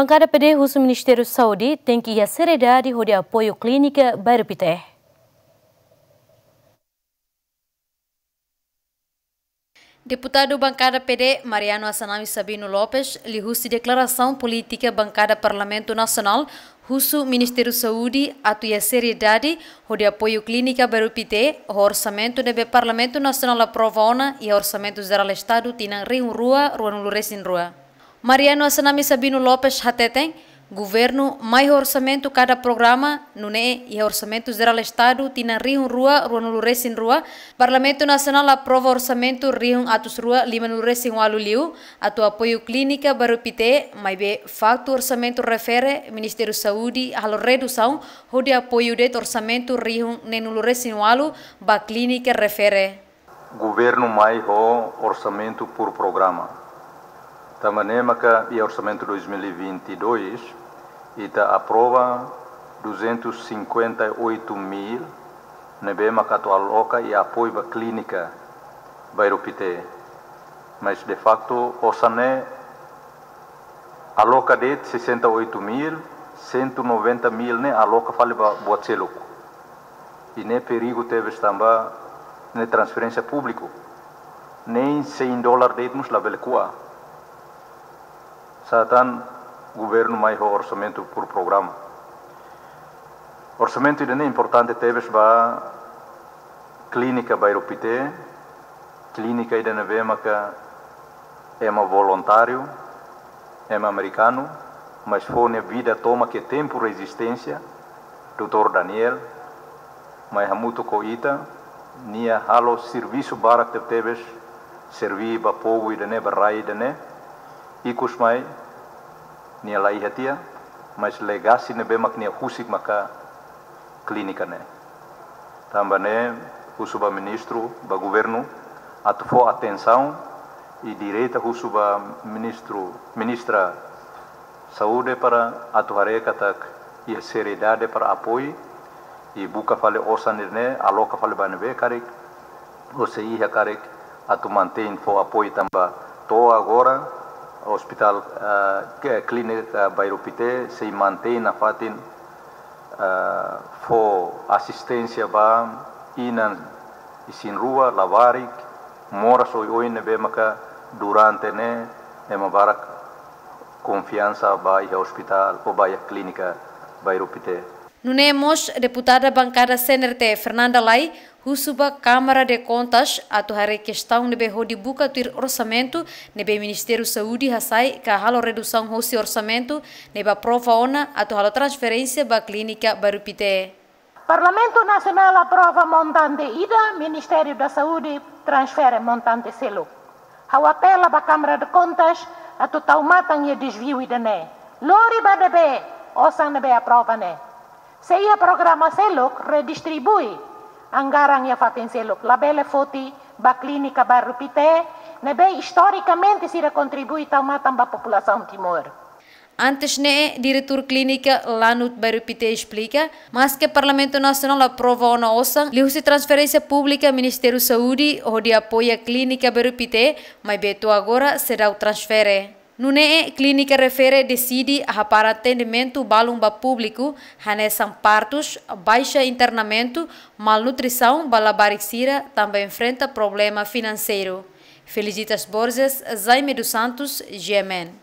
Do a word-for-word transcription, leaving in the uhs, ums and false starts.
Bankada P D husu Ministériu Saúde tenke iha seriedade hodi apoiu klínika Bairru Pité. Deputadu Bankada P D Mariano Assanami Sabino Lopes liuhusi deklarasaun polítika Bankada Parlamentu Nasionál husu Ministériu Saúde atu iha seriedade hodi apoiu klínika Bairru Pité ho orsamentu ne'ebé Parlamentu Nasionál aprova ona iha Orsamentu Jerál Estadu tinan rihun rua ruanulu-resin-rua. Mariano Assanami Sabino Lopes hateten, governu mai ho orsamentu kada programa, nune'e iha Orsamentu Jerál Estadu tinan rihun rua ruanulu-resin-rua, Parlamentu Nasionál aprova orsamentu rihun atus rua limanulu-resin-ualu liu atu apoiu klínika Bairru Pité, maibé faktu orsamentu refere Ministériu Saúde halo redusaun hodi apoiu de'it orsamentu rihun neenulu-resin-ualu ba klínika refere. Governu mai ho orsamentu por programa. Tanba ne'e maka iha orsamentu dois mil e vinte e dois, ita aprova duzentos e cinquenta e oito mil ne'ebé maka atu aloka i apoiu ba klínika Bairru Pité. Mas de facto osan ne'e aloka de'it sessenta e oito mil, cento e noventa mil ne'e aloka fali ba buat seluk. I ne'e perigu tebes tanba ne'e transferénsia públiku. Nein cem dólar de'it mós labele ko'a. Sá tan governu mai ho orsamentu por programa. Orsamentu ida-ne'e importante tebes ba klínika Bairru Pité, klínika ida ne'ebé maka ema voluntáriu, ema amerikanu, mas fó nia vida tomak iha tempu rezisténsia, doutór Daniel, mai hamutuk ho ita, nia halo servisu barak tebetebes, serví ba povu ida-ne'e, ba rai ida-ne'e, ikus mai, nia la iha tiha, mas legasi ne'ebé mak nia husik maka klínika ne'e. Tanba ne'e, husu ba ministru, ba governu, atu fó atensaun, i direta husu ba ministru, ministra Saúde para atu haree katak iha seriedade para apoiu, i buka fali osan ne'e, aloka fali ba ne'ebé karik, ou sei iha karik atu mantein fó apoiu tanba to'o agora, ospitál, ah, ke klínika Bairru Pité, sei mantein nafatin, ah, fó asisténsia ba inan isin-rua, labarik, moras oioin ne'ebé maka durante ne'e ema barak konfiansa ba iha ospitál ou ba iha klínika Bairru Pité. Nune'e mós, deputada bankada C N R T, Fernanda Lay, husu ba Câmara de Contas atu haree kestaun ne'ebé hodi buka tuir orsamentu ne'ebé Ministériu Saúde hasai ka halo redusaun hosi orsamentu ne'ebé aprova ona atu halo transferénsia ba klínika Bairru Pité. Parlamentu Nasionál aprova montante ida, Ministériu da Saúde transfere montante seluk. Ha'u apela ba Câmara de Contas atu tau matan iha dezviu ida-ne'e. Lori ba ne'ebé osan ne'ebé aprova ne'e. Se iha programa seluk, redistribui anggaran iha fatin seluk. Labele foti ba klínika Bairru Pité, ne'ebé istorikamente sira kontribui tau matan ba populasaun Timor. Antes ne'e, diretór klínika Lanut Bairru Pité esplika, maske Parlamentu Nasionál aprova ona osan liuhusi transferénsia públika Ministériu Saúde hodi apoia klínika Bairru Pité, maibé to'o agora seidauk transfere. Nune'e, klínika refere deside hapara atendimentu balun ba públiku, hanesan partus, baixa internamentu, malnutrisaun ba labarik sira, tanba enfrenta problema finanseiru. Felicitas Borges, Jaime dos Santos, G M N.